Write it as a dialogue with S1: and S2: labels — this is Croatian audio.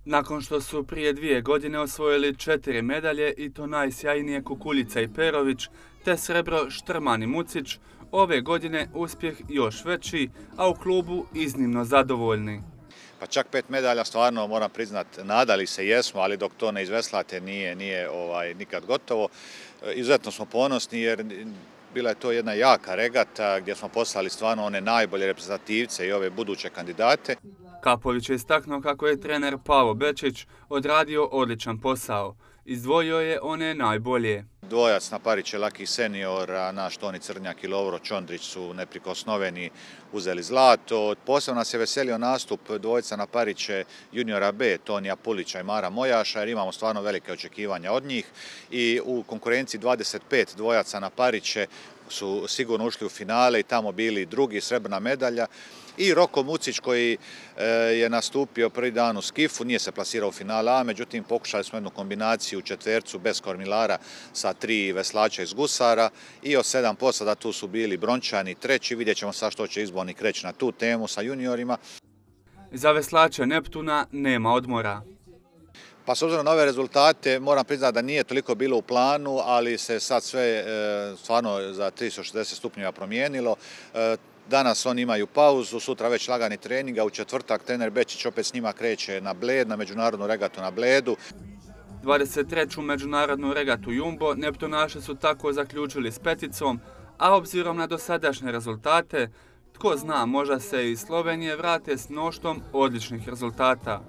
S1: Nakon što su prije 2 godine osvojili 4 medalje i to najsjajnije Kukuljica i Perović, te srebro Štrman i Mucić, ove godine uspjeh još veći, a u klubu iznimno zadovoljni.
S2: Pa čak 5 medalja stvarno moram priznat, nadali se jesmo, ali dok to ne izveslate nije nikad gotovo. Izuzetno smo ponosni jer bila je to jedna jaka regata gdje smo poslali stvarno one najbolje reprezentativce i ove buduće kandidate.
S1: Kapović je istaknuo kako je trener Pavo Bečić odradio odličan posao. Izdvojio je one najbolje.
S2: Dvojac na Pariće Laki senior, a naš Toni Crnjak i Lovro Čondrić su neprikosnoveni, uzeli zlato. Posebno nas je veselio nastup dvojca na Pariće juniora B, Tonija Pulića i Mara Mojaša, jer imamo stvarno velike očekivanja od njih. I u konkurenciji 25 dvojaca na Pariće su sigurno ušli u finale i tamo bili drugi, srebrna medalja. I Roko Mucić koji je nastupio prvi dan u skifu, nije se plasirao u finale A, međutim pokušali smo jednu kombinaciju u četvercu bez kormilara sa 3 veslača iz gusara i od 7 posada tu su bili brončani treći, vidjet ćemo sad što će izbornik reći na tu temu sa juniorima.
S1: Za veslače Neptuna nema odmora.
S2: Pa s obzirom na ove rezultate moram priznati da nije toliko bilo u planu, ali se sad sve stvarno za 360 stupnjeva promijenilo. Danas oni imaju pauzu, sutra već lagani trening, a u četvrtak trener Bečić opet s njima kreće na Bled, na međunarodnu regatu na Bledu.
S1: 23. međunarodnu regatu Jumbo Neptunaši su tako zaključili s peticom, a obzirom na dosadašnje rezultate, tko zna, možda se iz Slovenije vrate s mnoštvom odličnih rezultata.